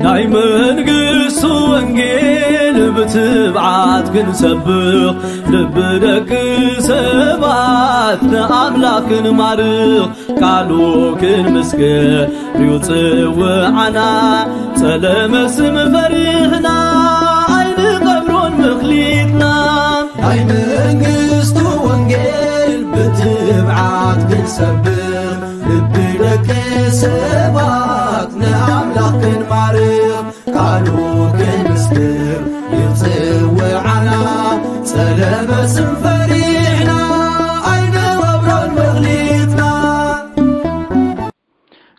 ናይ መንግስቱ ወንጌል ብትብዓት ክንሰብኽ፣ ልቢ ደቂ ሰባት ንኣምላኽ ክንማርኽ፣ ቃሉ ክንምስክር እዩ ጽውዓና። ጸለመ ስም ፈሪሕና ኣይንቐብሮን መኽሊትና። ናይ መንግስቱ ወንጌል ብትብዓት ክንሰብኽ፣ ልቢ ደቂ ሰባት ንኣምላኽ ክንማርኽ፣ ቃሉ ክንምስክር ይጽውዓና። ጸለመ ስም ፈሪሕና ኣይንቐብሮን መኽሊትና።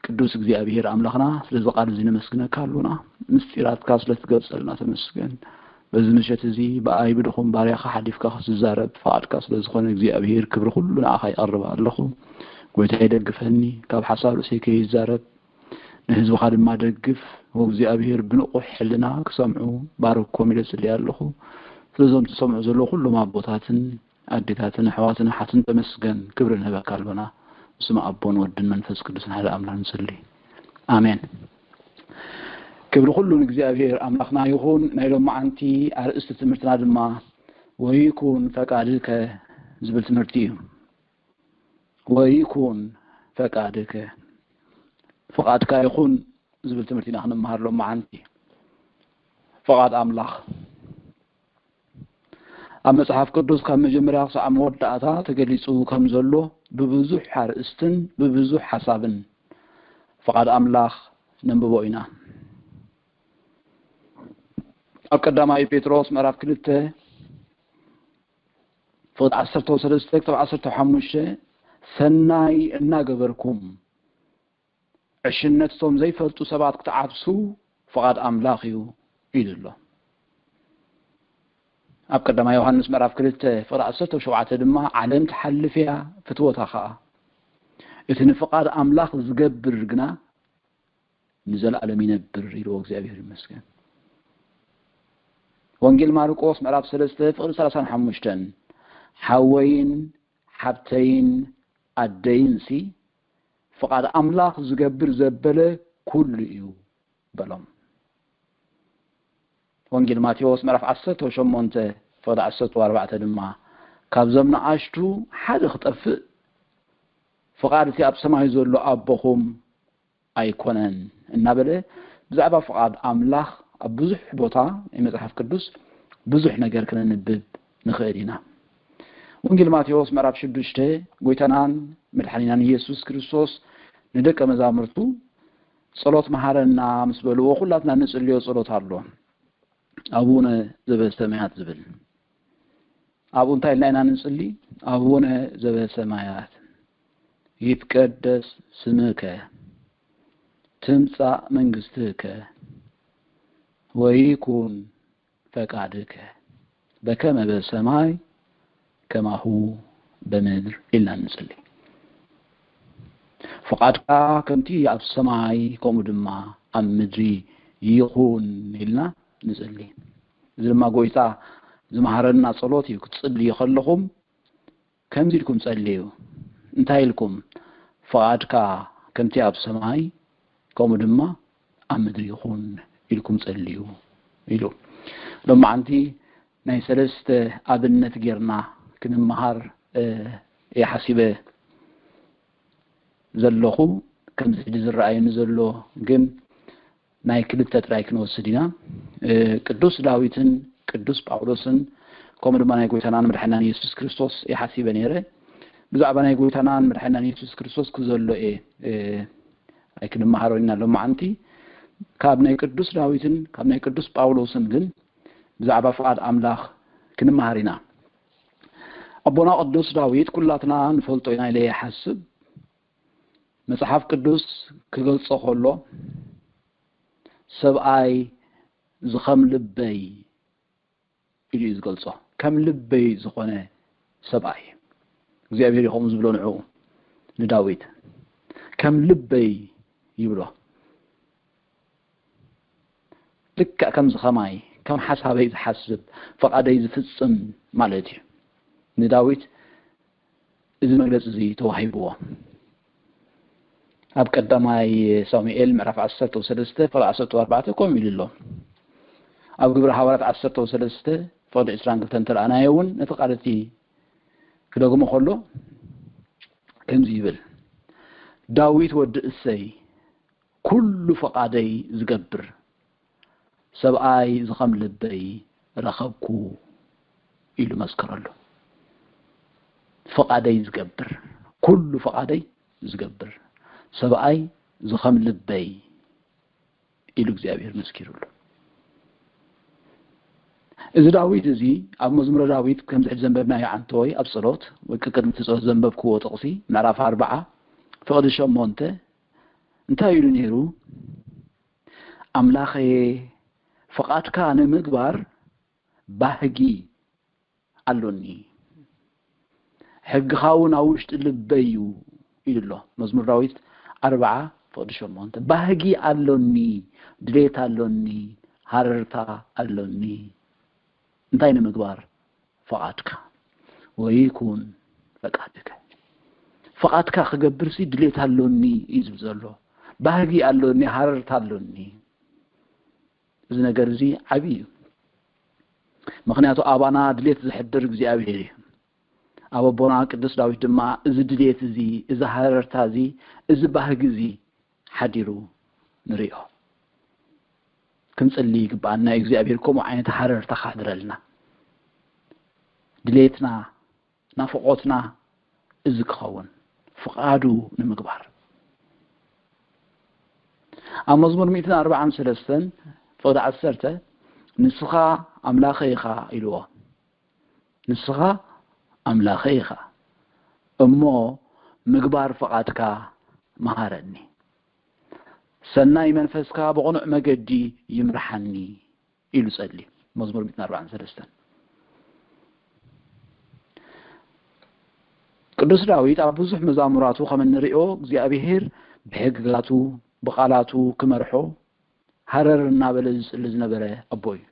ቅዱስ እግዚኣብሔር ኣምላኽና፣ ስለዚ ቃል እዚ ነመስግነካ ኣሎና። ምስጢራትካ ስለ ትገልጸልና ተመስገን። በዚ ምሸት እዚ ብኣይ ብድኹም ባርያኻ ሓሊፍካ ክትዛረብ ፍቓድካ ስለ ዝኾነ እግዚኣብሔር ክብሪ ኩሉ ንዓኻ ይቐርብ ኣለኹ። ጎይታዬ ደግፈኒ፣ ካብ ሓሳብ ርእሰይ ከይዛረብ ንህዝብኻ ድማ ደግፍ። ወእግዚኣብሔር ብንቑሕ ሕልና ክሰምዑ ባርኮም ኢለ ጽልየ ኣለኹ። ስለዞም ዝሰምዑ ዘለዉ ኩሎም ኣቦታትን ኣዴታትን ኣሕዋትን ኣሓትን ተመስገን ክብሪ ንህበካ ኣሎና። ብስመ ኣቦን ወድን መንፈስ ቅዱስን ሓደ ኣምላኽ ንጽሊ። ኣሜን። ክብሪ ኩሉ ንእግዚኣብሔር ኣምላኽና ይኹን። ናይ ሎማዓንቲ ኣርእስቲ ትምህርትና ድማ ወይኩን ፈቃድከ ዝብል ትምህርቲ እዩ። ወይኩን ፈቃድከ፣ ፍቓድካ ይኹን ዝብል ትምህርቲ ኢና ክንመሃር ሎማዓንቲ። ፍቓድ ኣምላኽ ኣብ መጽሓፍ ቅዱስ ካብ መጀመርያ ክሳዕ መወዳእታ ተገሊጹ ከም ዘሎ ብብዙሕ ኣርእስትን ብብዙሕ ሓሳብን ፍቓድ ኣምላኽ ነንብቦ ኢና። ኣብ ቀዳማይ ጴጥሮስ ምዕራፍ ክልተ ፍቕዲ ዓሰርተ ሰለስተ ክሳብ ዓሰርተ ሓሙሽተ፣ ሰናይ እናገበርኩም ዕሽነቶም ዘይፈልጡ ሰባት ክትዓብሱ ፍቓድ ኣምላኽ እዩ ኢሉ ኣሎ። ኣብ ቀዳማይ ዮሃንስ ምዕራፍ ክልተ ፍቕዲ ዓሰርተ ሸውዓተ ድማ፣ ዓለም ትሓልፍ እያ፣ ፍትወታ ኸኣ። እቲ ንፍቓድ ኣምላኽ ዝገብር ግና ንዘለኣለም ይነብር ኢልዎ። እግዚኣብሔር ይመስገን። ወንጌል ማርቆስ ምዕራፍ ሰለስተ ፍቕዲ ሰላሳን ሓሙሽተን፣ ሓወይን ሓብተይን ኣደይንሲ ፍቓድ ኣምላኽ ዝገብር ዘበለ ኩሉ እዩ በሎም። ወንጌል ማቴዎስ ምዕራፍ ዓሰርተ ሸሞንተ ፍቕዲ ዓሰርተ ኣርባዕተ ድማ፣ ካብዞም ንኣሽቱ ሓደ ክጠፍእ ፍቓድ እቲ ኣብ ሰማይ ዘሎ ኣቦኹም ኣይኮነን እናበለ ብዛዕባ ፍቓድ ኣምላኽ ኣብ ብዙሕ ቦታ ናይ መጽሓፍ ቅዱስ ብዙሕ ነገር ክነንብብ ንኽእል ኢና። ወንጌል ማቴዎስ ምዕራፍ ሽዱሽተ፣ ጎይታናን መድሓኒናን ኢየሱስ ክርስቶስ ንደቀ መዛሙርቱ ጸሎት መሃረና ምስ በልዎ፣ ኩላትና ንጽልዮ ጸሎት ኣሎ። ኣቡነ ዘበሰማያት ዝብል። ኣብኡ እንታይ ኢልና ኢና ንጽሊ? ኣቡነ ዘበሰማያት ይትቀደስ ስምከ ትምጻእ መንግስትከ ወይኩን ፈቃድከ በከመ በሰማይ ከማሁ በምድር ኢልና ንጽሊ። ፍቓድካ ከምቲ ኣብ ሰማይ ከምኡ ድማ ኣብ ምድሪ ይኹን ኢልና ንጽሊ። እዚ ድማ ጎይታ ዝመሃረና ጸሎት እዩ። ክትጽልዩ ከለኹም ከምዚ ኢልኩም ጸልዩ። እንታይ ኢልኩም? ፍቓድካ ከምቲ ኣብ ሰማይ ከምኡ ድማ ኣብ ምድሪ ይኹን ኢልኩም ጸልዩ ኢሉ። ሎማዓንቲ ናይ ሰለስተ ኣብነት ጌርና ክንመሃር እየ ሓሲበ ዘለኹ። ከምዚ ሕጂ ዝረኣየኒ ዘሎ ግን ናይ ክልተ ጥራይ ክንወስድ ኢና። ቅዱስ ዳዊትን ቅዱስ ጳውሎስን ከምኡ ድማ ናይ ጎይታናን መድሓናን የሱስ ክርስቶስ ይሓሲበ ነይረ። ብዛዕባ ናይ ጎይታናን መድሓናን የሱስ ክርስቶስ ክዘሎ እየ ኣይክንመሃሮ ኢና ሎማዓንቲ። ካብ ናይ ቅዱስ ዳዊትን ካብ ናይ ቅዱስ ጳውሎስን ግን ብዛዕባ ፍቓድ ኣምላኽ ክንመሃር ኢና። ኣቦና ቅዱስ ዳዊት ኩላትና ንፈልጦ ኢና ኢለ ይሓስብ። መጽሓፍ ቅዱስ ክገልጾ ከሎ ሰብኣይ ዝኸም ልበይ ኢሉ እዩ ዝገልጾ። ከም ልበይ ዝኾነ ሰብኣይ እግዚኣብሔር እዩ ከምኡ ዝብሎ ንዕኡ ንዳዊት ከም ልበይ ይብሎ። ልክዕ ከምዚ ከማይ ከም ሓሳበይ ዝሓስብ ፍቓደይ ዝፍጽም ማለት እዩ። ንዳዊት እዚ መግለጺ እዚ ተዋሂብዎ። ኣብ ቀዳማይ ሳሙኤል ምዕራፍ ዓሰርተ ሰለስተ ፍቕዲ ዓሰርተ ኣርባዕተ ከምኡ ኢሉ ኣሎ። ኣብ ግብረ ሃዋርያት ዓሰርተ ሰለስተ ፍቕዲ ዕስራን ክልተን እንተረኣናዮ እውን ነቲ ቃል እቲ ክደግሞ ከሎ ከምዚ ይብል፣ ዳዊት ወዲ እሰይ ኩሉ ፈቓደይ ዝገብር ሰብኣይ ዝኸም ልበይ ረኸብኩ ኢሉ መስከረሉ። ፈቓደይ ዝገብር፣ ኩሉ ፈቓደይ ዝገብር ሰብኣይ ዝኸም ልበይ ኢሉ እግዚኣብሔር መስኪሩሉ። እዚ ዳዊት እዚ ኣብ መዝሙረ ዳዊት ከምዚ ሕጂ ዘንበብናዮ ዓንተወይ ኣብ ጸሎት ወይ ቅድሚ እቲ ጸሎት ዘንበብክዎ ጥቕሲ ምዕራፍ ኣርባዓ ፍቕዲ ሸሞንተ እንታይ ኢሉ ነይሩ? ኣምላኸየ ፍቓድካ ንምግባር ባህጊ ኣሎኒ፣ ሕግኻ እውን ኣብ ውሽጢ ልበይ እዩ ኢሉ ኣሎ። መዝሙር ዳዊት ኣርባዓ ፍቕዲ ሸሞንተ። ባህጊ ኣሎኒ፣ ድሌት ኣሎኒ፣ ሃረርታ ኣሎኒ። እንታይ ንምግባር? ፍቓድካ። ወይኩን ፍቓድከ። ፍቓድካ ክገብርሲ ድሌት ኣሎኒ እዩ ዝብል ዘሎ። ባህጊ ኣሎኒ፣ ሃረርታ ኣሎኒ። እዚ ነገር እዚ ዓብዪ እዩ። ምኽንያቱ ኣባና ድሌት ዘሕድር እግዚኣብሔር እዩ። ኣብ ኣቦና ቅዱስ ዳዊት ድማ እዚ ድሌት እዚ፣ እዚ ሃረርታ እዚ፣ እዚ ባህጊ እዚ ሓዲሩ ንሪኦ። ክንጽሊ ይግብኣና እዩ እግዚኣብሔር ከምኡ ዓይነት ሃረርታ ካሕድረልና። ድሌትና፣ ናፍቖትና እዚ ክኸውን፣ ፍቓዱ ንምግባር። ኣብ መዝሙር ሚእትን ኣርባዓን ሰለስተን ፍቕዲ ዓሰርተ፣ ንስኻ ኣምላኸይ ኢኻ ኢልዎ። ንስኻ ኣምላኸይ ኢኻ እሞ ምግባር ፍቓድካ መሃረኒ። ሰናይ መንፈስካ ብቕኑዕ መገዲ ይምርሓኒ ኢሉ ጸሊ። መዝሙር ሚእትን ኣርባዓን ሰለስተን። ቅዱስ ዳዊት ኣብ ብዙሕ መዛሙራቱ ከም እንሪኦ እግዚኣብሔር ብሕግጋቱ ብቓላቱ ክመርሖ ሃረር እናበለ ዝጽሊ ዝነበረ ኣቦ እዩ።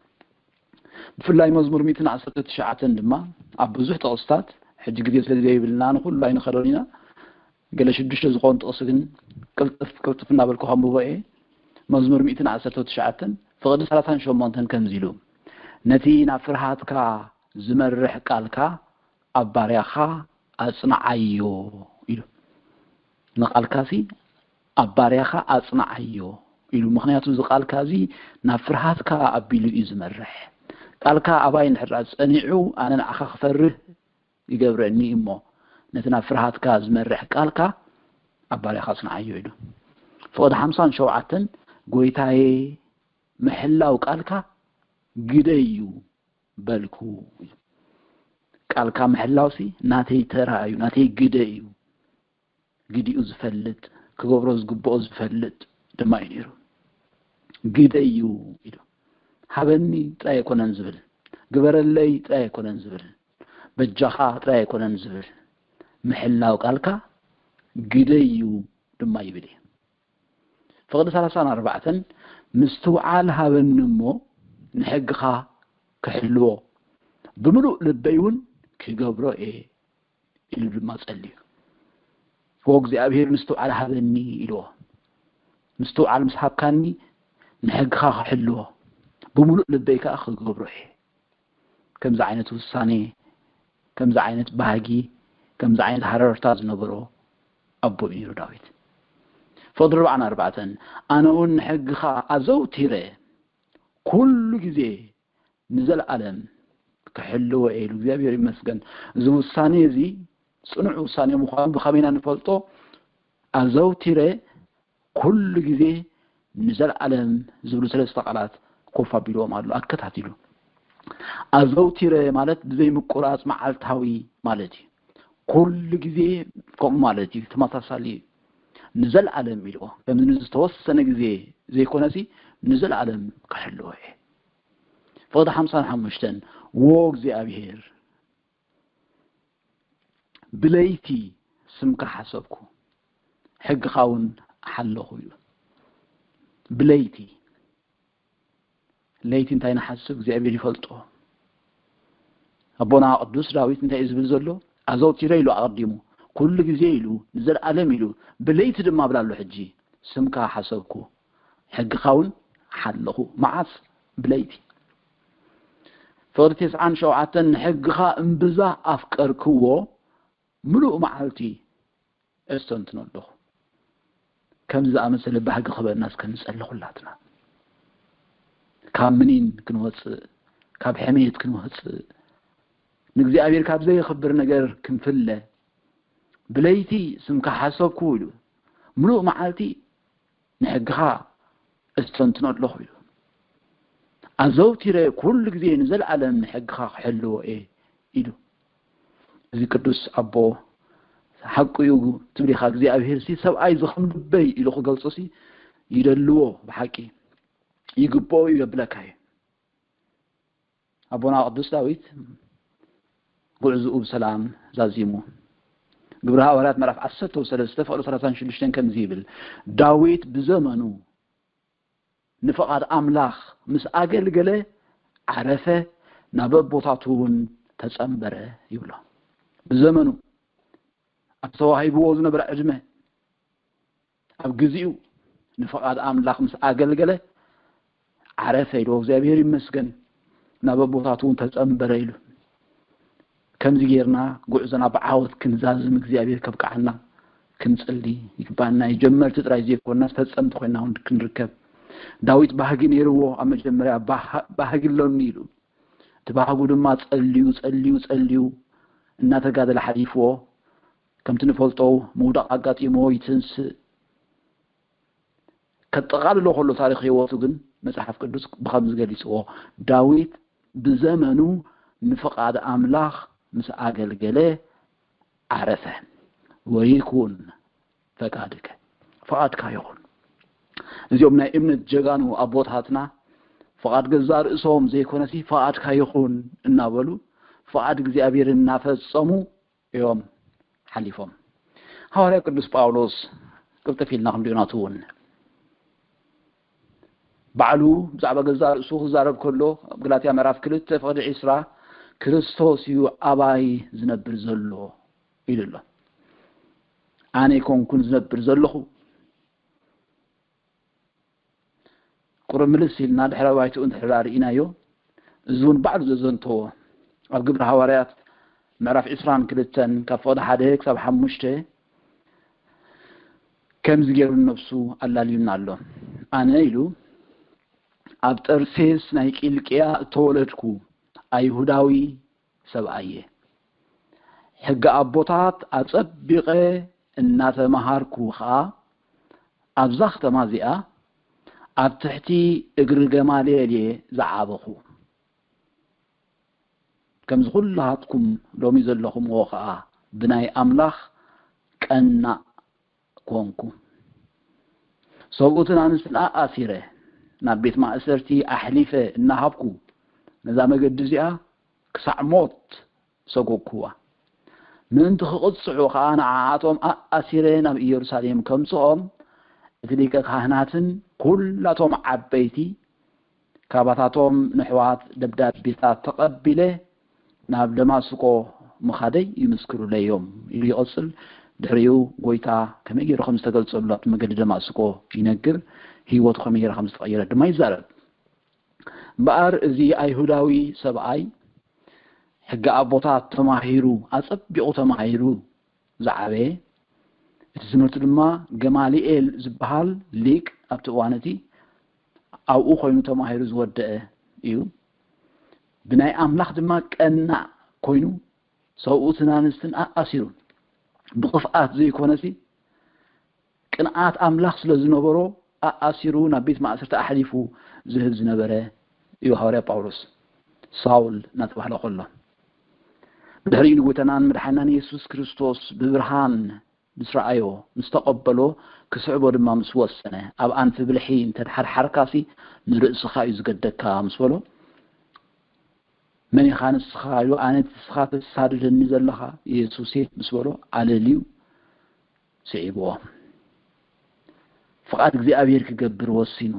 ብፍላይ መዝሙር ሚእትን ዓሰርተ ትሽዓተን ድማ ኣብ ብዙሕ ጥቕስታት፣ ሕጂ ግዜ ስለ ዘይብልና ንኹሉ ኣይንኸዶን ኢና፣ ገለ ሽዱሽተ ዝኾኑ ጥቕሲ ግን ቅልጥፍ ቅልጥፍ እናበልኩ ከንብቦ እየ። መዝሙር ሚእትን ዓሰርተ ትሽዓተን ፍቕዲ ሰላሳን ሸሞንተን ከምዚ ኢሉ፣ ነቲ ናብ ፍርሃትካ ዝመርሕ ቃልካ ኣብ ባርያኻ ኣጽንዓዮ ኢሉ። ንቓልካሲ ኣብ ባርያኻ ኣጽንዓዮ ኢሉ። ምኽንያቱ እዚ ቃልካ እዚ ናብ ፍርሃትካ ኣቢሉ እዩ ዝመርሕ። ቃልካ ኣባይ እንድሕር ደኣ ጸኒዑ፣ ኣነ ንዓኻ ክፈርህ ይገብረኒ እሞ፣ ነቲ ናብ ፍርሃትካ ዝመርሕ ቃልካ ኣብ ባርያኻ ኣጽንዓዮ ኢሉ። ፍቕዲ ሓምሳን ሸውዓተን፣ ጎይታየ፣ ምሕላው ቃልካ ግደይ እዩ በልኩ። ቃልካ ምሕላውሲ ናተይ ተራ እዩ፣ ናተይ ግደ እዩ። ግዲኡ ዝፈልጥ፣ ክገብሮ ዝግብኦ ዝፈልጥ ድማ እዩ ነይሩ። ግደ እዩ ኢሉ። ሃበኒ ጥራይ ኣይኮነን ዝብል፣ ግበረለይ ጥራይ ኣይኮነን ዝብል፣ በጃኻ ጥራይ ኣይኮነን ዝብል፣ ምሕላው ቃልካ ግደ እዩ ድማ ይብል እዩ። ፍቕዲ ሰላሳን ኣርባዕተን፣ ምስትውዓል ሃበኒ እሞ ንሕግኻ ክሕልዎ፣ ብምሉእ ልበይ እውን ክገብሮ እየ ኢሉ ድማ ጸልዩ። ዎ እግዚኣብሔር ምስትውዓል ሃበኒ ኢልዎ። ምስትውዓል ምስ ሃብካኒ ንሕግኻ ክሕልዎ፣ ብምሉእ ልበይ ከኣ ክገብሮ እየ። ከምዚ ዓይነት ውሳኔ፣ ከምዚ ዓይነት ባህጊ፣ ከምዚ ዓይነት ሃረርታ ዝነበሮ ኣቦ እዩ ነይሩ ዳዊት። ፍቕዲ ኣርባዓን ኣርባዕተን፣ ኣነ እውን ንሕግኻ ኣዘውቲረ ኩሉ ግዜ ንዘለኣለም ክሕልዎ እየ ኢሉ። እግዚኣብሔር ይመስገን። እዚ ውሳኔ እዚ ጽኑዕ ውሳኔ ምዃኑ ብኸመይ ኢና ንፈልጦ? ኣዘውቲረ ኩሉ ግዜ ንዘለኣለም ዝብሉ ሰለስተ ቃላት ኮፍ ኣቢልዎም ኣሎ ኣከታቲሉ። ኣዘውቲረ ማለት ብዘይ ምቁራጽ መዓልታዊ ማለት እዩ። ኩሉ ግዜ ከምኡ ማለት እዩ፣ ተመሳሳሊ እዩ። ንዘለኣለም ኢልዎ፣ ከምዚ ንዝተወሰነ ግዜ ዘይኮነሲ ንዘለኣለም ክሕልዎ እየ። ፍቕዲ ሓምሳን ሓሙሽተን፣ ዎ እግዚኣብሔር ብለይቲ ስምካ ሓሰብኩ፣ ሕግኻ እውን ሓለኹ እዩ። ብለይቲ፣ ለይቲ እንታይ ንሓስብ እግዚኣብሔር ይፈልጦ። ኣቦና ቅዱስ ዳዊት እንታይ እዩ ዝብል ዘሎ? ኣዘውቲረ ኢሉ ኣቐዲሙ፣ ኩሉ ግዜ ኢሉ፣ ንዘለኣለም ኢሉ፣ ብለይቲ ድማ ብላሉ ሕጂ ስምካ ሓሰብኩ፣ ሕግኻ እውን ሓለኹ። መዓስ? ብለይቲ። ፍቕዲ ተስዓን ሸውዓተን፣ ንሕግኻ እምብዛ ኣፍቀርክዎ፣ ምሉእ መዓልቲ እስተንትኖ ኣለኹ። ከምዚ ዝኣመሰለ ባህጊ ክበና እስከ ንጸሊ ኩላትና። ካብ ምኒን ክንወጽእ፣ ካብ ሕሜት ክንወጽእ፣ ንእግዚኣብሔር ካብ ዘየኽብር ነገር ክንፍለ፣ ብለይቲ ስምካ ሓሰብኩ ኢሉ፣ ምሉእ መዓልቲ ንሕግኻ እስተንትኖ ኣለኹ ኢሉ። ኣዘውቲረ ኩሉ ግዜ ንዘለኣለም ንሕግኻ ክሕልዎ እየ ኢሉ። እዚ ቅዱስ ኣቦ ሓቁ እዩ ትብል ኢኻ። እግዚኣብሔር ሲ ሰብኣይ ዝኸም ልበይ ኢሉ ክገልጾ ሲ ይደልዎ ብሓቂ ይግብኦ እዩ የብለካ እዩ። ኣቦና ቅዱስ ዳዊት ጉዕዝኡ ብሰላም ዛዚሙ። ግብሪ ሃዋርያት ምዕራፍ ዓሰርተ ሰለስተ ፍቕዲ ሰላሳን ሽዱሽተን ከምዚ ይብል፣ ዳዊት ብዘመኑ ንፍቓድ ኣምላኽ ምስ ኣገልገለ ዓረፈ፣ ናብ ኣቦታቱ እውን ተጸንበረ ይብሎ። ብዘመኑ ኣብ ተዋሂብዎ ዝነበረ ዕድመ ኣብ ግዜኡ ንፍቓድ ኣምላኽ ምስ ኣገልገለ ዓረፈ ኢሉ፣ እግዚኣብሔር ይመስገን፣ ናብ ኣቦታቱ እውን ተጸንበረ ኢሉ። ከምዚ ጌርና ጉዕዞና ብዓወት ክንዛዝም እግዚኣብሔር ከብቅዓና ክንጽሊ ይግባና። ጀመርቲ ጥራይ ዘይኮንና ፈጸምቲ ኮይና እውን ክንርከብ። ዳዊት ባህጊ ነይርዎ። ኣብ መጀመርያ ባህ-፣ ባህጊ ኣሎኒ ኢሉ። እቲ ባህጉ ድማ ጸልዩ፣ ጸልዩ፣ ጸልዩ እናተጋደለ ሓሊፍዎ። ከምቲ ንፈልጦ ምውዳቕ ኣጋጢምዎ ይትንስእ። ከጠቓልሎ ከሎ ታሪኽ ህይወቱ ግን መጽሓፍ ቅዱስ ብኸምዚ ገሊጽዎ፣ ዳዊት ብዘመኑ ንፍቓድ ኣምላኽ ምስ ኣገልገለ ዓረፈ። ወይኩን ፈቃድከ፣ ፍቓድካ ይኹን። እዚኦም ናይ እምነት ጀጋኑ ኣቦታትና ፍቓድ ገዛእ ርእሶም ዘይኮነሲ ፍቓድካ ይኹን እናበሉ ፍቓድ እግዚኣብሔር እናፈጸሙ እዮም ሓሊፎም። ሃዋርያ ቅዱስ ጳውሎስ ቅልጥፍ ኢልና ክንሪኦ ናቱ እውን ባዕሉ ብዛዕባ ገዛእ ርእሱ ክዛረብ ከሎ ኣብ ገላትያ ምዕራፍ ክልተ ፍቕዲ ዒስራ ክርስቶስ እዩ ኣባይ ዝነብር ዘሎ ኢሉ ኣሎ። ኣነ ኣይኮንኩን ዝነብር ዘለኹ። ቁሩብ ምልስ ኢልና ድሕረ ባይትኡ እንድሕር ርኢናዮ፣ እዚ እውን ባዕሉ ዘዘንተዎ ኣብ ግብሪ ሃዋርያት ምዕራፍ ዒስራን ክልተን ካብ ፍቕዲ ሓደ ክሳብ ሓሙሽተ ከምዚ ገይሩ ነብሱ ኣላልዩና ኣሎ። ኣነ ኢሉ ኣብ ጠርሴስ ናይ ቂልቅያ እተወለድኩ ኣይሁዳዊ ሰብኣየ። ሕጊ ኣቦታት ኣጸቢቐ እናተመሃርኩ ኸኣ ኣብዛ ከተማ እዚኣ ኣብ ትሕቲ እግሪ ገማልየል እየ ዝዓበኹ። ከምዚ ኩላትኩም ሎሚ ዘለኹምዎ ኸኣ ብናይ ኣምላኽ ቀናእ ኮንኩ። ሰብኡትን ኣንስትን ኣኣሲረ ናብ ቤት ማእሰርቲ ኣሕሊፈ እናሃብኩ ነዛ መገዲ እዚኣ ክሳዕ ሞት ሰጎግኩዋ። ምእንቲ ክቕጽዑ ኸኣ ንዓኣቶም ኣኣሲረ ናብ ኢየሩሳሌም ከምጽኦም እቲ ሊቀ ካህናትን ኩላቶም ዓበይቲ ካባታቶም ንሕዋት ደብዳቤታት ተቐቢለ ናብ ደማስቆ ምኻደይ ይምስክሩለይ እዮም ኢሉ ይቐጽል። ድሕሪኡ ጎይታ ከመይ ገይሩ ከም ዝተገልጸሉ ኣብቲ መገዲ ደማስቆ ይነግር፣ ህይወቱ ከመይ ገይራ ከም ዝተቐየረት ድማ ይዛረብ። እምበኣር እዚ ኣይሁዳዊ ሰብኣይ ሕጊ ኣቦታት ተማሂሩ፣ ኣጸቢቑ ተማሂሩ ዝዓበየ፣ እቲ ትምህርቲ ድማ ገማልኤል ዝበሃል ሊቅ ኣብቲ እዋን እቲ ኣብኡ ኮይኑ ተማሂሩ ዝወደአ እዩ። ብናይ ኣምላኽ ድማ ቀናእ ኮይኑ ሰብኡትን ኣንስትን ኣኣሲሩ፣ ብኽፍኣት ዘይኮነሲ ቅንኣት ኣምላኽ ስለ ዝነበሮ ኣኣሲሩ ናብ ቤት ማእሰርቲ ኣሕሊፉ ዝህብ ዝነበረ እዩ ሃዋርያ ጳውሎስ፣ ሳውል እናተባህለ ከሎ። ብድሕሪኡ ንጎይታናን መድሓናን የሱስ ክርስቶስ ብብርሃን ምስ ረኣዮ፣ ምስ ተቐበሎ፣ ክስዕቦ ድማ ምስ ወሰነ፣ ኣብ ኣንፊ ብልሒ እንተ ተሓርሓርካሲ ንርእስኻ እዩ ዝገደካ ምስ በሎ፣ መን ኢኻ ንስኻ ኢሉ፣ ኣነ እቲ ንስኻ ተሳድደኒ ዘለኻ የሱስ እየ ምስ በሎ፣ ኣለልዩ ስዒብዎ። ፍቓድ እግዚኣብሔር ክገብር ወሲኑ።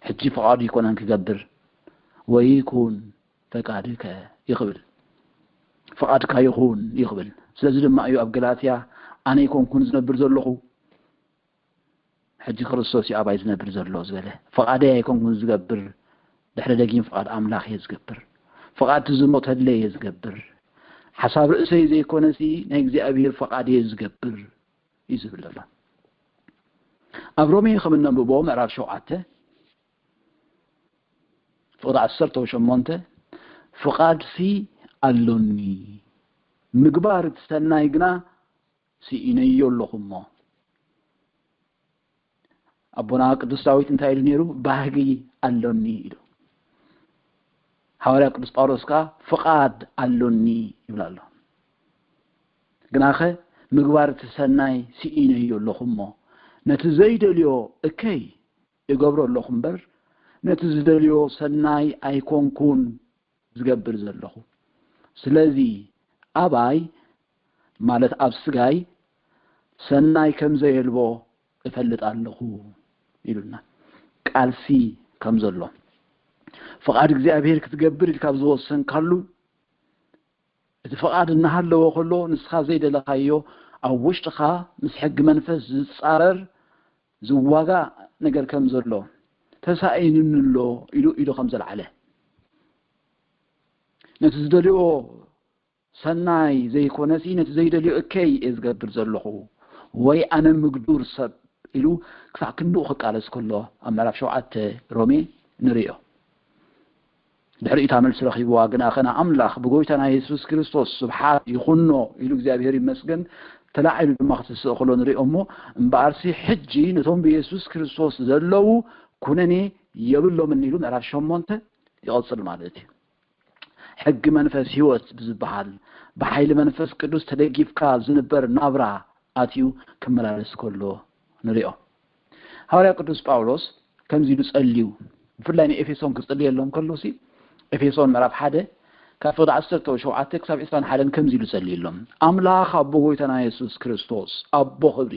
ሕጂ ፍቓዱ ይኮነን ክገብር። ወይኩን ፈቃድከ ይኽብል። ፍቓድካ ይኹን ይኽብል። ስለዚ ድማ እዩ ኣብ ገላትያ ኣነ ኣይኮንኩን ዝነብር ዘለኹ፣ ሕጂ ክርስቶስ እዩ ኣባይ ዝነብር ዘሎ ዝበለ። ፍቓደይ ኣይኮንኩን ዝገብር፣ ድሕሪ ደጊም ፍቓድ ኣምላኽ እየ ዝገብር። ፍቓድ ዝሞተለይ እየ ዝገብር። ሓሳብ ርእሰይ ዘይኮነሲ ናይ እግዚኣብሔር ፍቓድ እየ ዝገብር እዩ ዝብል ዘሎ። ኣብ ሮሜ ከም እነንብቦ ምዕራፍ ሸውዓተ ፍቕዲ ዓሰርተ ሸሞንተ ፍቓድሲ ኣሎኒ፣ ምግባር እቲ ሰናይ ግና ስኢነዮ ኣለኹ እሞ። ኣቦና ቅዱስ ዳዊት እንታይ ኢሉ ነይሩ? ባህጊ ኣሎኒ ኢሉ። ሃዋርያ ቅዱስ ጳውሎስ ከኣ ፍቓድ ኣሎኒ ይብል ኣሎ። ግናኸ ምግባር እቲ ሰናይ ስኢነዮ ኣለኹ እሞ፣ ነቲ ዘይደልዮ እከይ እገብሮ ኣለኹ እምበር፣ ነቲ ዝደልዮ ሰናይ ኣይኮንኩን ዝገብር ዘለኹ። ስለዚ ኣባይ፣ ማለት ኣብ ስጋይ፣ ሰናይ ከም ዘየልቦ እፈልጥ ኣለኹ ኢሉና። ቃልሲ ከም ዘሎ፣ ፍቓድ እግዚኣብሔር ክትገብር ኢልካ ኣብ ዝወሰንካሉ፣ እቲ ፍቓድ እናሃለወ ከሎ ንስኻ ዘይደለኻዮ ኣብ ውሽጥኻ ምስ ሕጊ መንፈስ ዝጻረር ዝዋጋእ ነገር ከም ዘሎ ተሳኢኑኒ ኣሎ ኢሉ ኢሉ ከም ዘልዓለ፣ ነቲ ዝደልዮ ሰናይ ዘይኮነሲ ነቲ ዘይደልዮ እከይ እየ ዝገብር ዘለኹ፣ ወይ ኣነ ምግዱር ሰብ ኢሉ ክሳዕ ክንድኡ ክቃለስ ከሎ ኣብ ምዕራፍ ሸውዓተ ሮሜ ንርእዮ። ድሕሪኡ እታ መልሲ ረኺብዋ፣ ግናኸ ንኣምላኽ ብጎይታና የሱስ ክርስቶስ ስብሓት ይኹኖ ኢሉ እግዚኣብሔር ይመስገን ተላዒሉ ድማ ክትስእ ከሎ ንርእዮ እሞ፣ እምበኣርሲ ሕጂ ነቶም ብየሱስ ክርስቶስ ዘለዉ ኩነኔ የብሎምን ኢሉ ምዕራፍ ሸሞንተ ይቐጽል ማለት እዩ። ሕጊ መንፈስ ህይወት ብዝበሃል ብሓይሊ መንፈስ ቅዱስ ተደጊፍካ ዝንበር ናብራ ኣትዩ ክመላለስ ከሎ ንሪኦ። ሃዋርያ ቅዱስ ጳውሎስ ከምዚ ኢሉ ጸልዩ፣ ብፍላይ ንኤፌሶን ክጽልየሎም ከሎ ሲ፣ ኤፌሶን ምዕራፍ ሓደ ካብ ፍቕዲ ዓሰርተ ሸውዓተ ክሳብ ዕስራን ሓደን ከምዚ ኢሉ ጸልዩሎም። ኣምላኽ ኣቦ ጎይታና የሱስ ክርስቶስ ኣቦ ክብሪ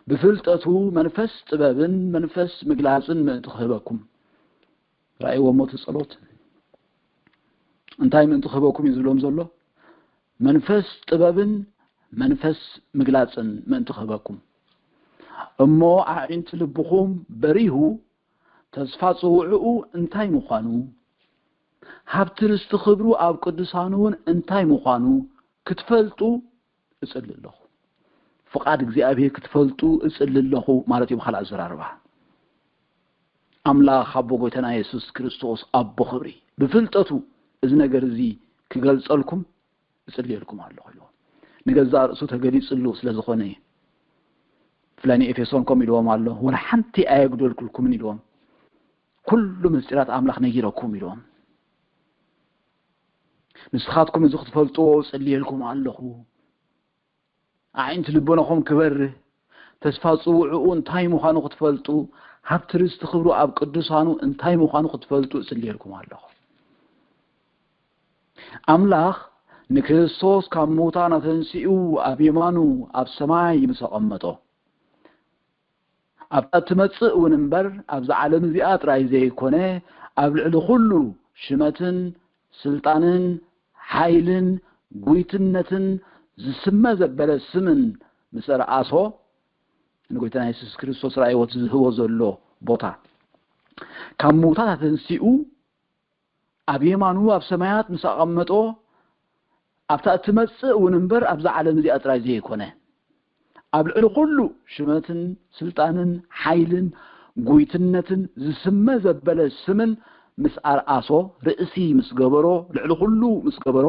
ብፍልጠቱ መንፈስ ጥበብን መንፈስ ምግላጽን ምእንቲ ክህበኩም። ረኣይዎ እሞ እቲ ጸሎት እንታይ ምእንቲ ክህበኩም እዩ ዝብሎም ዘሎ? መንፈስ ጥበብን መንፈስ ምግላጽን ምእንቲ ክህበኩም። እሞ ኣዒንቲ ልብኹም በሪሁ ተስፋ ጽውዕኡ እንታይ ምዃኑ፣ ሃብቲ ርስቲ ክብሩ ኣብ ቅዱሳኑ እውን እንታይ ምዃኑ ክትፈልጡ እጽሊ ኣለኹ። ፍቓድ እግዚኣብሔር ክትፈልጡ እጽሊ ኣለኹ ማለት እዩ ብኻልእ ኣዘራርባ። ኣምላኽ ኣቦ ጎይታና የሱስ ክርስቶስ ኣቦ ክብሪ ብፍልጠቱ እዚ ነገር እዚ ክገልጸልኩም እጽልየልኩም ኣለኹ ኢልዎም። ንገዛእ ርእሱ ተገሊጽሉ ስለ ዝኾነ እዩ። ብፍላይ ንኤፌሶን ከምኡ ኢልዎም ኣሎ፣ ወላ ሓንቲ ኣየጉደልኩልኩምን ኢልዎም። ኩሉ ምስጢራት ኣምላኽ ነጊረኩም ኢልዎም። ንስኻትኩም እዚ ክትፈልጥዎ እጽልየልኩም ኣለኹ። ኣዒንቲ ልቦናኹም ክበርህ፣ ተስፋ ጽውዕኡ እንታይ ምዃኑ ክትፈልጡ፣ ሃብቲ ርስቲ ክብሩ ኣብ ቅዱሳኑ እንታይ ምዃኑ ክትፈልጡ እጽልየልኩም ኣለኹ። ኣምላኽ ንክርስቶስ ካብ ምዉታን ኣተንሲኡ ኣብ የማኑ ኣብ ሰማይ ምስ ኣቐመጦ፣ ኣብታ እትመጽእ እውን እምበር ኣብዛ ዓለም እዚኣ ጥራይ ዘይኮነ፣ ኣብ ልዕሊ ኩሉ ሽመትን ስልጣንን ሓይልን ጉይትነትን ዝስመ ዘበለ ስምን ምስ ኣርኣሶ፣ ንጎይታና የሱስ ክርስቶስ ራእይዎ እቲ ዝህቦ ዘሎ ቦታ፣ ካብ ምዉታት ኣተንሲኡ ኣብ የማኑ ኣብ ሰማያት ምስ ኣቐመጦ፣ ኣብታ እትመጽእ እውን እምበር ኣብዛ ዓለም እዚኣ ጥራይ ዘይኮነ፣ ኣብ ልዕሊ ኩሉ ሽመትን ስልጣንን ሓይልን ጉይትነትን ዝስመ ዘበለ ስምን ምስ ኣርኣሶ፣ ርእሲ ምስ ገበሮ፣ ልዕሊ ኩሉ ምስ ገበሮ፣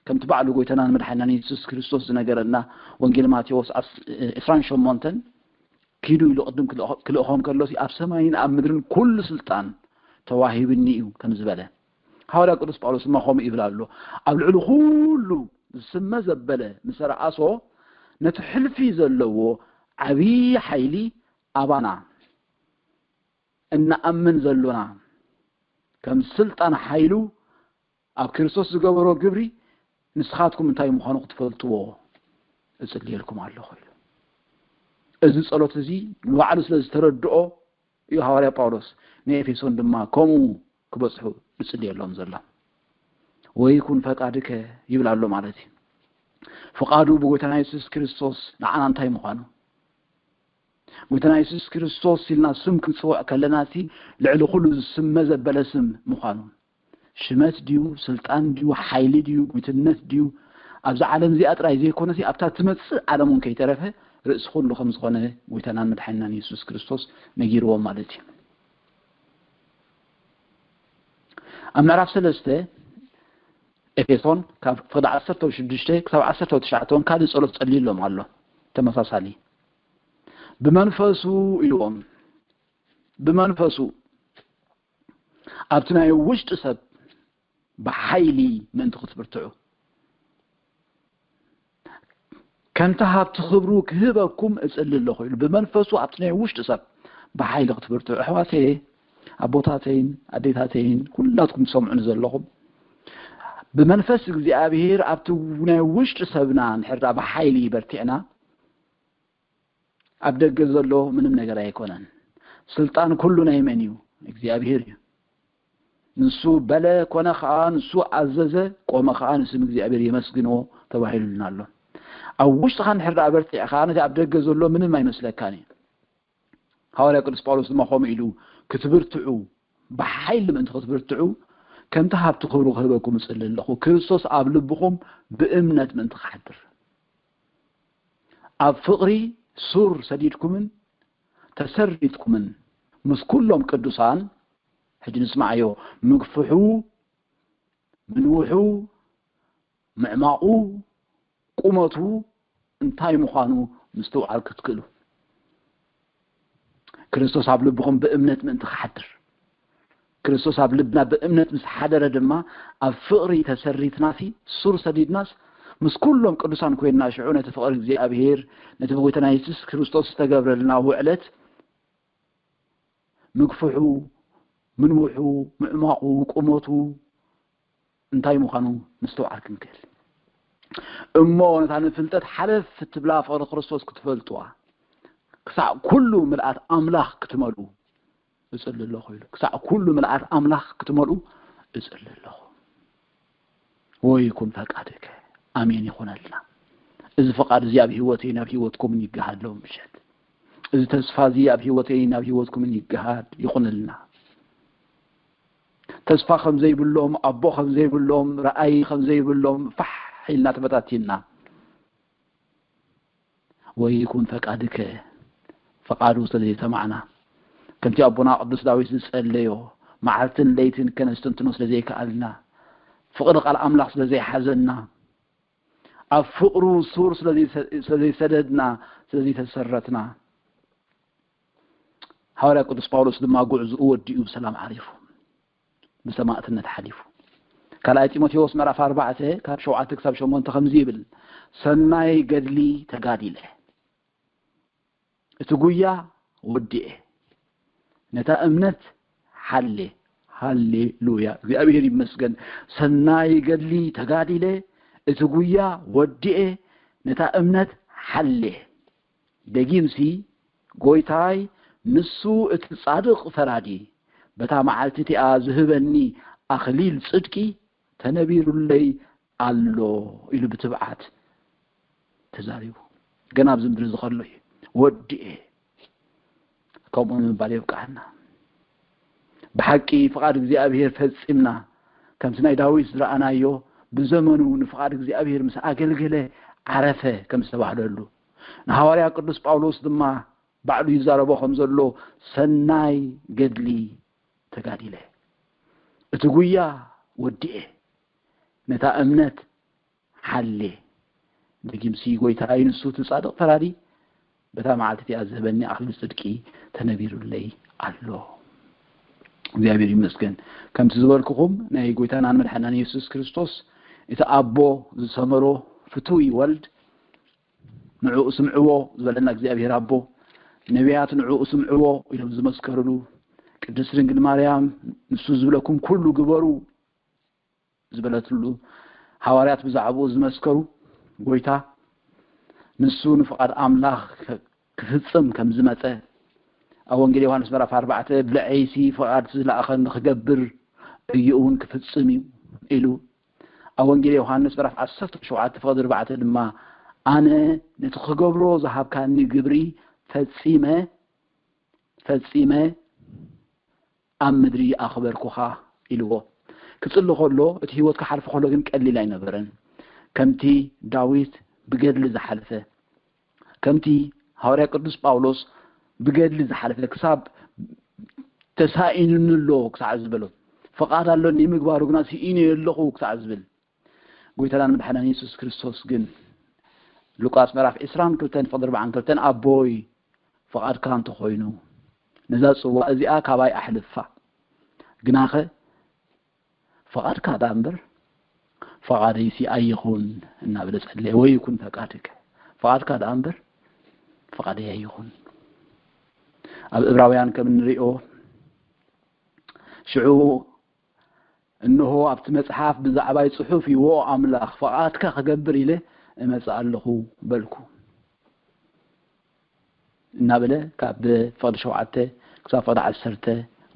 ከምቲ ባዕሉ ጎይታናን መድሓኒናን የሱስ ክርስቶስ ዝነገረና ወንጌል ማቴዎስ ዓስ-፣ ዕስራን ሸሞንተን ኪዱ ኢሉ ቅድም ክልእኾ-፣ ክልእኾም ከሎሲ ኣብ ሰማይን ኣብ ምድርን ኩሉ ስልጣን ተዋሂብኒ እዩ ከም ዝበለ፣ ሃዋርያ ቅዱስ ጳውሎስ ድማ ከምኡ ይብል ኣሎ። ኣብ ልዕሊ ኩሉ ዝስመ ዘበለ ምስ ኣርኣሶ፣ ነቲ ሕልፊ ዘለዎ ዓብዪ ሓይሊ ኣባና እንኣምን ዘሎና ከም ስልጣን ሓይሉ ኣብ ክርስቶስ ዝገበሮ ግብሪ ንስኻትኩም እንታይ ምዃኑ ክትፈልጥዎ እጽልየልኩም ኣለኹ ኢሉ። እዚ ጸሎት እዚ ንባዕሉ ስለ ዝተረድኦ እዩ ሃዋርያ ጳውሎስ ንኤፌሶን ድማ ከምኡ ክበጽሑ ዝጽልየሎም ዘሎ። ወይኩን ፈቃድከ ይብል ኣሎ ማለት እዩ። ፍቓዱ ብጎይታና የሱስ ክርስቶስ ንዓና እንታይ ምዃኑ፣ ጎይታና የሱስ ክርስቶስ ኢልና ስም ክንጽውዕ ከለና፣ እቲ ልዕሊ ኩሉ ዝስመ ዘበለ ስም ምዃኑ፣ ሽመት ድዩ፣ ስልጣን ድዩ፣ ሓይሊ ድዩ፣ ጉይትነት ድዩ፣ ኣብዛ ዓለም እዚኣ ጥራይ ዘይኮነሲ ኣብታ ትመጽእ ዓለም እውን ከይተረፈ ርእሲ ኩሉ ከም ዝኾነ ጎይታናን መድሓኒናን የሱስ ክርስቶስ ነጊርዎም ማለት እዩ። ኣብ ምዕራፍ ሰለስተ ኤፌሶን ካብ ፍቕዲ ዓሰርተ ሽዱሽተ ክሳብ ዓሰርተ ትሽዓተ እውን ካልእ ጸሎት ጸልዩሎም ኣሎ። ተመሳሳሊ ብመንፈሱ ኢልዎም፣ ብመንፈሱ ኣብቲ ናይ ውሽጢ ሰብ ብሓይሊ ምእንቲ ክትብርትዑ፣ ከምቲ ሃብቲ ክብሩ ክህበኩም እጽሊ ኣለኹ ኢሉ፣ ብመንፈሱ ኣብቲ ናይ ውሽጢ ሰብ ብሓይሊ ክትብርትዑ። ኣሕዋተየ፣ ኣቦታተይን ኣዴታተይን ኩላትኩም ትሰምዑኒ ዘለኹም፣ ብመንፈስ እግዚኣብሔር ኣብቲ ናይ ውሽጢ ሰብና እንድሕር ደኣ ብሓይሊ በርቲዕና፣ ኣብ ደገ ዘሎ ምንም ነገር ኣይኮነን። ስልጣን ኩሉ ናይ መን እዩ? እግዚኣብሔር እዩ። ንሱ በለ ኮነ ኸዓ፣ ንሱ ኣዘዘ ቆመ ኸዓ፣ ንስም እግዚኣብሔር የመስግንዎ ተባሂሉልና ኣሎ። ኣብ ውሽጥኻ እንድሕር ደኣ በርቲዕኻ፣ ነቲ ኣብ ደገ ዘሎ ምንም ኣይመስለካን እዩ። ሃዋርያ ቅዱስ ጳውሎስ ድማ ከምኡ ኢሉ፣ ክትብርትዑ፣ ብሓይሊ ምእንቲ ክትብርትዑ፣ ከምቲ ሃብቲ ክብሩ ክህበኩም እጽሊ ኣለኹ፣ ክርስቶስ ኣብ ልብኹም ብእምነት ምእንቲ ክሓድር፣ ኣብ ፍቕሪ ሱር ሰዲድኩምን ተሰሪትኩምን ምስ ኩሎም ቅዱሳን፣ ሕጂ ንስማዓዮ፣ ምግፍሑ፣ ምንውሑ፣ ምዕማቑ፣ ቁመቱ እንታይ ምዃኑ ምስትውዓል ክትክእሉ። ክርስቶስ ኣብ ልብኹም ብእምነት ምእንቲ ክሓድር። ክርስቶስ ኣብ ልብና ብእምነት ምስ ሓደረ ድማ፣ ኣብ ፍቕሪ ተሰሪትናሲ፣ ሱር ሰዲድናስ፣ ምስ ኩሎም ቅዱሳን ኮይንና፣ ሽዑ ነቲ ፍቕሪ እግዚኣብሔር፣ ነቲ ብጎይታና የሱስ ክርስቶስ ዝተገብረልና ውዕለት፣ ምግፍሑ፣ ምንውሑ፣ ምዕማቑ፣ ቁመቱ እንታይ ምዃኑ ምስትውዓል ክንክእል። እሞ ነታ ንፍልጠት ሓለፍ እትብላ ፍቕሪ ክርስቶስ ክትፈልጥዋ፣ ክሳዕ ኩሉ ምልኣት ኣምላኽ ክትመልኡ እጽሊ ኣለኹ ኢሉ። ክሳዕ ኩሉ ምልኣት ኣምላኽ ክትመልኡ እጽሊ ኣለኹ። ወይኩን ፈቃድከ። ኣሜን ይኹነልና። እዚ ፈቃድ እዚ ኣብ ህይወተይን ኣብ ህይወትኩምን ይገሃድ ሎም ምሸት። እዚ ተስፋ እዚ ኣብ ህይወተይን ኣብ ህይወትኩምን ይገሃድ ይኹንልና። ተስፋ ከም ዘይብሎም፣ ኣቦ ከም ዘይብሎም፣ ረኣይ ከም ዘይብሎም ፋሕ ኢልና ተበታቲንና። ወይኩን ፈቃድከ፣ ፈቃዱ ስለ ዘይሰማዕና፣ ከምቲ ኣቦና ቅዱስ ዳዊት ዝጸለዮ፣ መዓልትን ለይትን ከነስተንትኖ ስለ ዘይከኣልና፣ ፍቕሪ ቃል ኣምላኽ ስለ ዘይሓዘና፣ ኣብ ፍቕሩ ሱር ስለ ዘይሰ-፣ ስለ ዘይሰደድና፣ ስለ ዘይተሰረትና፣ ሃዋርያ ቅዱስ ጳውሎስ ድማ ጉዕዝኡ ወዲኡ ብሰላም ዓሪፉ፣ ብሰማእትነት ሓሊፉ። ካልኣይ ጢሞቴዎስ ምዕራፍ ኣርባዕተ ካብ ሸውዓተ ክሳብ ሸሞንተ ከምዚ ይብል፣ ሰናይ ገድሊ ተጋዲለ፣ እቲ ጉያ ወዲኤ፣ ነታ እምነት ሓሌ። ሃሌሉያ፣ እግዚኣብሔር ይመስገን። ሰናይ ገድሊ ተጋዲለ፣ እቲ ጉያ ወዲኤ፣ ነታ እምነት ሓሌ። ደጊምሲ፣ ጎይታይ፣ ንሱ እቲ ጻድቕ ፈራዲ፣ በታ መዓልቲ እቲኣ ዝህበኒ ኣኽሊል ጽድቂ ተነቢሩለይ ኣሎ ኢሉ ብትብዓት ተዛሪቡ። ገና ኣብዚ ምድሪ እዚ ከሎ እዩ፣ ወዲኤ። ከምኡ ንምባል የብቅዓና። ብሓቂ ፍቓድ እግዚኣብሔር ፈጺምና፣ ከምቲ ናይ ዳዊት ዝረኣናዮ፣ ብዘመኑ ንፍቓድ እግዚኣብሔር ምስ ኣገልገለ ዓረፈ ከም ዝተባህለሉ፣ ንሃዋርያ ቅዱስ ጳውሎስ ድማ ባዕሉ ይዛረቦ ከም ዘሎ፣ ሰናይ ገድሊ ተጋዲለ፣ እቲ ጉያ ወዲኤ፣ ነታ እምነት ሓሌ። ደጊምሲ፣ ጎይታይ፣ ንሱ እቲ ጻድቕ ፈራዲ፣ በታ መዓልቲ እቲኣ ዝህበኒ ኣኽሊል ጽድቂ ተነቢሩለይ ኣሎ። እግዚኣብሔር ይመስገን። ከምቲ ዝበልኩኹም፣ ናይ ጎይታናን መድሓናን የሱስ ክርስቶስ፣ እቲ ኣቦ ዝሰመሮ ፍቱይ ወልድ፣ ንዕኡ ስምዕዎ ዝበለና እግዚኣብሔር ኣቦ፣ ነቢያት ንዕኡ ስምዕዎ ኢሎም ዝመስከሩሉ፣ ቅድስት ድንግል ማርያም፣ ንሱ ዝብለኩም ኩሉ ግበሩ ዝበለትሉ፣ ሃዋርያት ብዛዕባኡ ዝመስከሩ፣ ጎይታ ንሱ ንፍቓድ ኣምላኽ ክፍጽም ከም ዝመጸ፣ ኣብ ወንጌል ዮሃንስ ምዕራፍ ኣርባዕተ፣ "ብልዐይሲ ፍቓድ ዝለኣኸኒ ክገብር እዩ እውን ክፍጽም እዩ" ኢሉ፣ ኣብ ወንጌል ዮሃንስ ምዕራፍ ዓሰርተ ሸውዓተ ፍቕዲ ኣርባዕተ ድማ ኣነ ነቲ ክገብሮ ዝሃብካኒ ግብሪ ፈጺመ ፈጺመ ኣብ ምድሪ ኣኽበርኩኻ ኢልዎ። ክጽሊ ከሎ እቲ ህይወት ክሓልፍ ከሎ ግን ቀሊል ኣይነበረን። ከምቲ ዳዊት ብገድሊ ዝሓለፈ ከምቲ ሃዋርያ ቅዱስ ጳውሎስ ብገድሊ ዝሓለፈ ክሳብ ተሳኢኑኒ ኣሎ ክሳዕ ዝበሎ ፍቓድ ኣሎኒ ምግባሩ ግና ስኢነ ኣለኹ ክሳዕ ዝብል ጎይታናን መድሓናን የሱስ ክርስቶስ ግን ሉቃስ ምዕራፍ ዕስራን ክልተን ፍቕዲ ኣርባዓን ክልተን ኣቦይ ፍቓድካ እንተኾይኑ ነዛ ጽዋ እዚኣ ካባይ ኣሕልፋ ግናኸ ፍቓድካ ደኣ እምበር ፍቓደይሲ ኣይኹን እናበለ ጸለየ። ወይ ይኩን ፈቃድከ ፍቓድካ ደኣ እምበር ፍቓደይ ኣይኹን። ኣብ እብራውያን ከም እንሪኦ ሽዑ እንሆ ኣብቲ መጽሓፍ ብዛዕባይ ጽሑፍ እዩ፣ ዎ ኣምላኽ ፍቓድካ ክገብር ኢለ እመጽእ ኣለኹ በልኩ። እናበለ ካብ ፍቕዲ ሸውዓተ ክሳብ ፍቕዲ ዓሰርተ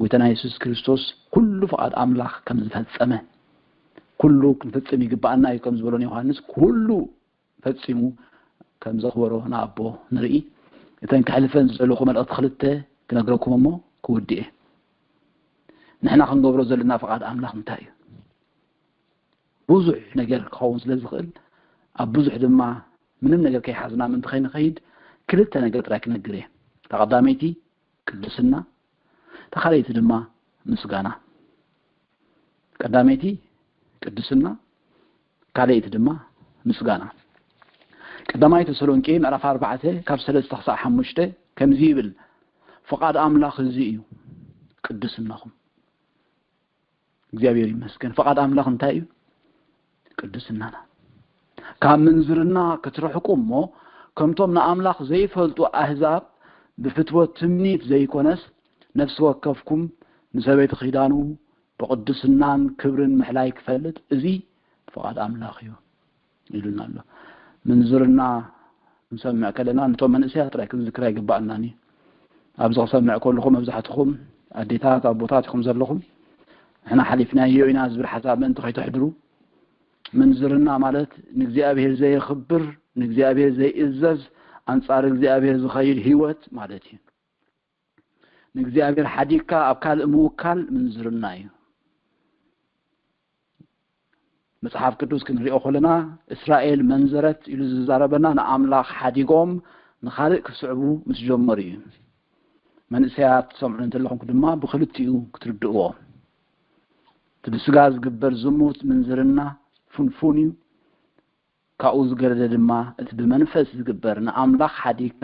ጎይታና የሱስ ክርስቶስ ኩሉ ፍቓድ ኣምላኽ ከም ዝፈጸመ ኩሉ ክንፍጽም ይግባኣና እዩ ከም ዝበሎ ንዮሃንስ ኩሉ ፈጺሙ ከም ዘኽበሮ ንኣቦ ንርኢ። እተን ክሕልፈን ዝደለኹ መልእኽቲ ክልተ ክነግረኩም እሞ ክውድእ እየ። ንሕና ክንገብሮ ዘለና ፍቓድ ኣምላኽ እንታይ እዩ? ብዙሕ ነገር ክኸውን ስለ ዝኽእል ኣብ ብዙሕ ድማ ምንም ነገር ከይሓዝና ምእንቲ ከይንኸይድ ክልተ ነገር ጥራይ ክነግር እየ። እታ ቀዳመይቲ ቅድስና፣ እታ ካልኣይቲ ድማ ምስጋና። ቀዳመይቲ ቅድስና፣ ካልኣይቲ ድማ ምስጋና። ቀዳማይ ተሰሎንቄ ምዕራፍ ኣርባዕተ ካብ ሰለስተ ክሳዕ ሓሙሽተ ከምዚ ይብል፣ ፍቓድ ኣምላኽ እዚ እዩ፣ ቅድስናኹም። እግዚኣብሔር ይመስገን። ፍቓድ ኣምላኽ እንታይ እዩ? ቅድስናና። ካብ ምንዝርና ክትርሕቁ እሞ ከምቶም ንኣምላኽ ዘይፈልጡ ኣህዛብ ብፍትወት ትምኒት ዘይኮነስ ነፍሲ ወከፍኩም ንሰበይቲ ኺዳኑ ብቕድስናን ክብርን ምሕላይ ክፈልጥ እዚ ፍቓድ ኣምላኽ እዩ ኢሉና ኣሎ። ምንዝርና ክንሰምዕ ከለና ነቶም መንእሰያት ጥራይ ክንዝክር ኣይግባኣናን እዩ። ኣብዚ ክሰምዕ ከለኹ መብዛሕትኹም ኣዴታት ኣቦታት ኢኹም ዘለኹም። ንሕና ሓሊፍናዮ ኢና ዝብል ሓሳብ ምእንቲ ከይተሕድሩ ምንዝርና ማለት ንእግዚኣብሔር ዘየኽብር ንእግዚኣብሔር ዘይእዘዝ ኣንጻር እግዚኣብሔር ዝኸይድ ህይወት ማለት እዩ። ንእግዚኣብሔር ሓዲግካ ኣብ ካልእ ምውካል ምንዝርና እዩ። መጽሓፍ ቅዱስ ክንሪኦ ከለና እስራኤል መንዘረት ኢሉ ዝዛረበና ንኣምላኽ ሓዲጎም ንኻልእ ክስዕቡ ምስ ጀመሩ እዩ። መንእሰያት ትሰምዑ እንተለኹም ድማ ብክልቲኡ ክትርድእዎ እቲ ብስጋ ዝግበር ዝሙት ምንዝርና ፍንፉን እዩ። ካብኡ ዝገደደ ድማ እቲ ብመንፈስ ዝግበር ንኣምላኽ ሓዲግካ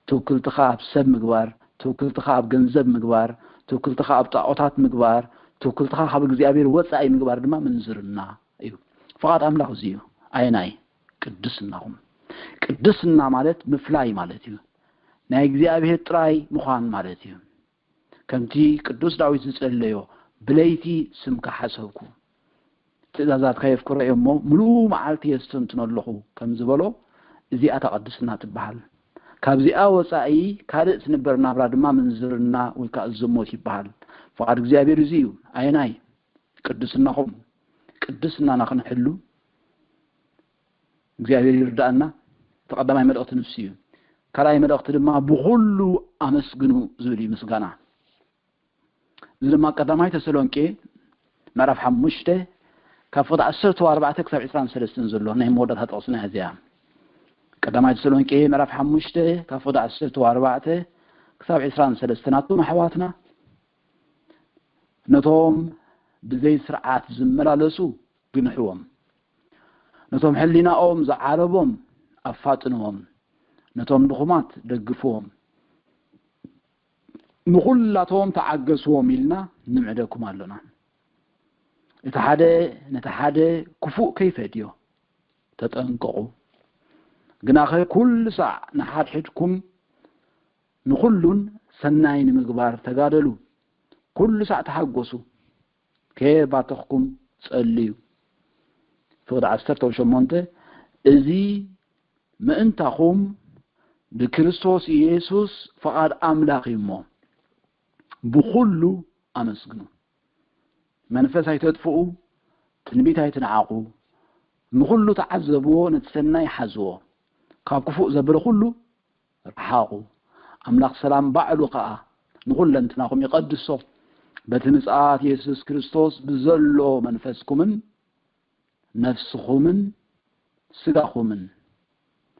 ትውክልትኻ ኣብ ሰብ ምግባር፣ ትውክልትኻ ኣብ ገንዘብ ምግባር፣ ትውክልትኻ ኣብ ጣዖታት ምግባር፣ ትውክልትኻ ካብ እግዚኣብሔር ወፃኢ ምግባር ድማ ምንዝርና እዩ። ፍቓድ ኣምላኽ እዚ እዩ። ኣየናይ? ቅድስናኹም። ቅድስና ማለት ምፍላይ ማለት እዩ። ናይ እግዚኣብሔር ጥራይ ምዃን ማለት እዩ። ከምቲ ቅዱስ ዳዊት ዝጸለዮ፣ ብለይቲ ስምካ ሓሰብኩ፣ ትእዛዛትካ የፍቅሮ እየ እሞ፣ ምሉእ መዓልቲ የስተንትኖ ኣለኹ ከም ዝበሎ፣ እዚኣ እታ ቅድስና ትበሃል። ካብዚኣ ወጻኢ ካልእ ትንበር ናብራ ድማ ምንዝርና ወይ ከኣ ዝሙት ይበሃል። ፍቓድ እግዚኣብሔር እዚ እዩ። ኣየናይ? ቅድስናኹም። ቅድስናና ክንሕሉ እግዚኣብሔር ይርዳእና። እቲ ቀዳማይ መልእኽቲ ንሱ እዩ። ካልኣይ መልእኽቲ ድማ ብኹሉ ኣመስግኑ ዝብል እዩ ምስጋና። እዚ ድማ ቀዳማይ ተሰሎንቄ ምዕራፍ ሓሙሽተ ካብ ፍቕዲ ዓሰርተ ኣርባዕተ ክሳብ ዕስራን ሰለስተን ዘሎ ናይ መወዳእታ ጥቕስና እያ እዚኣ። ቀዳማይ ተሰሎንቄ ምዕራፍ ሓሙሽተ ካብ ፍቕዲ ዓሰርተ ኣርባዕተ ክሳብ ዕስራን ሰለስተን ኣቱም ኣሕዋትና ነቶም ብዘይ ስርዓት ዝመላለሱ ግንሕዎም። ነቶም ሕሊናኦም ዝዓረቦም ኣፋጥንዎም። ነቶም ድኹማት ደግፍዎም። ንኹላቶም ተዓገስዎም ኢልና ንምዕደኩም ኣሎና። እቲ ሓደ ነቲ ሓደ ክፉእ ከይፈድዮ ተጠንቀቑ። ግናኸ ኩሉ ሳዕ ንሓድሕድኩም ንኹሉን ሰናይ ንምግባር ተጋደሉ። ኩሉ ሳዕ ተሓጎሱ። ከየባተኽኩም ጸልዩ። ፍቕዲ ዓሰርተ ሸሞንተ እዚ ምእንታኹም ብክርስቶስ ኢየሱስ ፍቓድ ኣምላኽ እዩ እሞ ብኹሉ ኣመስግኑ። መንፈስ ኣይተጥፍኡ፣ ትንቢት ኣይትንዓቑ፣ ንኹሉ ተዓዘብዎ፣ ነቲ ሰናይ ሓዝዎ፣ ካብ ክፉእ ዘበለ ኩሉ ርሓቑ። ኣምላኽ ሰላም ባዕሉ ኸኣ ንኹለንትናኹም ይቐድሶ። በቲ ምጽኣት የሱስ ክርስቶስ ብዘሎ መንፈስኩምን ነፍስኹምን ስጋኹምን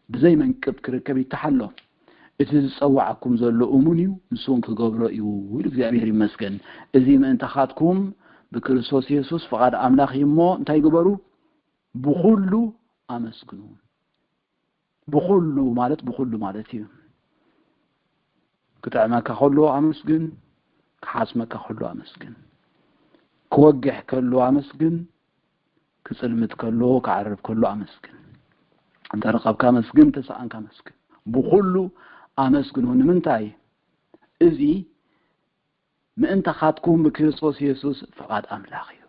ብዘይ መንቅብ ክርከብ ይተሓሎ። እቲ ዝጸዋዓኩም ዘሎ እሙን እዩ፣ ንሱ እውን ክገብሮ እዩ ኢሉ እግዚኣብሔር ይመስገን። እዚ ምእንታኻትኩም ብክርስቶስ የሱስ ፍቓድ ኣምላኽ እዩ እሞ እንታይ ግበሩ? ብኹሉ ኣመስግኑ። ብኹሉ ማለት ብኹሉ ማለት እዩ። ክጥዕመካ ከሎ ኣመስግን፣ ክሓስመካ ከሎ ኣመስግን፣ ክወግሕ ከሎ ኣመስግን፣ ክጽልምት ከሎ ክዓርብ ከሎ ኣመስግን። እንተረኸብካ ኣመስግን፣ እንተሰኣንካ ኣመስግን። ብኹሉ ኣመስግኑ። ንምንታይ? እዚ ምእንታኻትኩም ብክርስቶስ የሱስ ፍቓድ ኣምላኽ እዩ።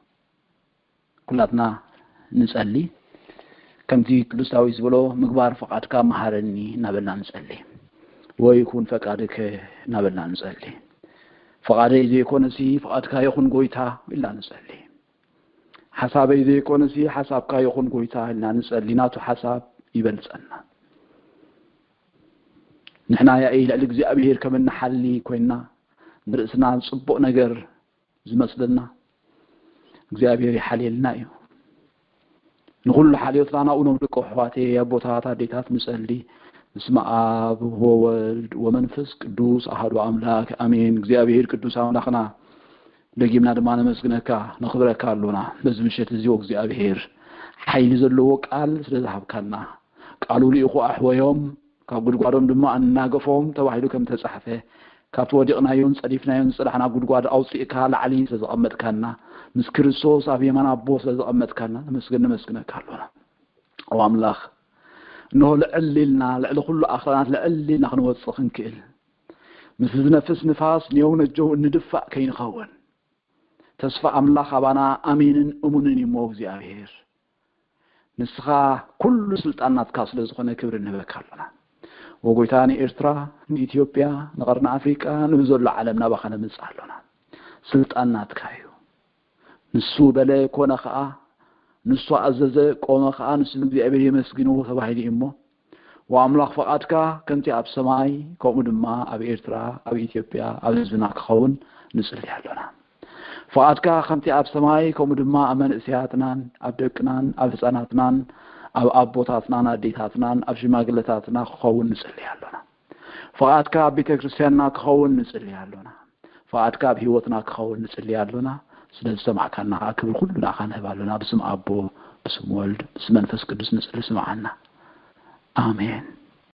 ኩላትና ንጸሊ። ከምቲ ቅዱስ ዳዊት ዝበሎ፣ "ምግባር ፍቓድካ መሃረኒ" እናበልና ንጸሊ። "ወይኩን ፈቃድከ" እናበልና ንጸሊ። "ፍቓደይ ዘይኮነሲ ፍቓድካ ይኹን ጎይታ" ኢልና ንጸሊ። "ሓሳበይ ዘይኮነሲ ሓሳብካ ይኹን ጎይታ" ኢልና ንጸሊ። ናቱ ሓሳብ ይበልጸና። ንሕና ያኢ ልዕሊ እግዚኣብሔር ከም እንሓሊ ኮይንና፣ ንርእስና ጽቡቕ ነገር ዝመስለና፣ እግዚኣብሔር ይሓልየልና እዩ። ንኹሉ ሓልዮትና ናብኡ ነውድቆ። ኣሕዋተይ፣ ኣቦታት፣ ኣዴታት፣ ንጸሊ። በስመ ኣብ ወወልድ ወመንፈስ ቅዱስ ኣሐዱ ኣምላክ ኣሜን። እግዚኣብሔር ቅዱስ ኣምላኽና፣ ደጊምና ድማ ነመስግነካ፣ ነኽብረካ ኣሎና። በዚ ምሸት እዚ እግዚኣብሔር ሓይሊ ዘለዎ ቃል ስለ ዝሃብካና፣ ቃሉ ልኢኹ ኣሕወዮም፣ ካብ ጉድጓዶም ድማ ኣናገፎም ተባሂሉ ከም ተጻሕፈ፣ ካብቲ ወዲቕናዮን ጸዲፍናዮን ዝጸናሕና ጉድጓድ ኣውጺእካ ላዕሊ ስለ ዘቐመጥካና፣ ምስ ክርስቶስ ኣብ የማን ኣቦ ስለ ዘቐመጥካና፣ ነመስግን ነመስግነካ ኣሎና። ኦ ኣምላኽ፣ እንሆ ልዕል ኢልና፣ ልዕሊ ኩሉ ኣኽራናት ልዕል ኢልና ክንወጽእ ክንክእል፣ ምስ ዝነፍስ ንፋስ ንየው ነጀው እንድፋእ ከይንኸውን፣ ተስፋ ኣምላኽ ኣባና ኣሚንን እሙንን እዩ እሞ እግዚኣብሔር፣ ንስኻ ኩሉ ስልጣን ናትካ ስለ ዝኾነ ክብሪ ንህበካ ኣሎና። ወጎይታ ንኤርትራ፣ ንኢትዮጵያ፣ ንቐርኒ ኣፍሪቃ፣ ንብዘሎ ዓለም ናባኻ ነምጽእ ኣሎና። ስልጣን ናትካ እዩ። ንሱ በለ ኮነ ኸኣ፣ ንሱ ኣዘዘ ቆመ ኸኣ፣ ንሱ ንእግዚኣብሔር የመስግንዎ ተባሂሉ እዩ እሞ፣ ወኣምላኽ ፍቓድካ ከምቲ ኣብ ሰማይ፣ ከምኡ ድማ ኣብ ኤርትራ፣ ኣብ ኢትዮጵያ፣ ኣብ ህዝብና ክኸውን ንጽሊ ኣሎና። ፍቓድካ ከምቲ ኣብ ሰማይ፣ ከምኡ ድማ ኣብ መንእሰያትናን፣ ኣብ ደቅናን፣ ኣብ ህጻናትናን፣ ኣብ ኣቦታትናን ኣዴታትናን፣ ኣብ ሽማግለታትና ክኸውን ንጽሊ ኣሎና። ፍቓድካ ኣብ ቤተ ክርስቲያንና ክኸውን ንጽሊ ኣሎና። ፍቓድካ ኣብ ህይወትና ክኸውን ንጽሊ ኣሎና። ስለ ዝሰማዕካና ኸኣ ክብሪ ኩሉ ንኣኻ ንህብ ኣሎና። ብስም ኣቦ፣ ብስም ወልድ፣ ብስም መንፈስ ቅዱስ ንጽሊ፣ ስምዓና። ኣሜን።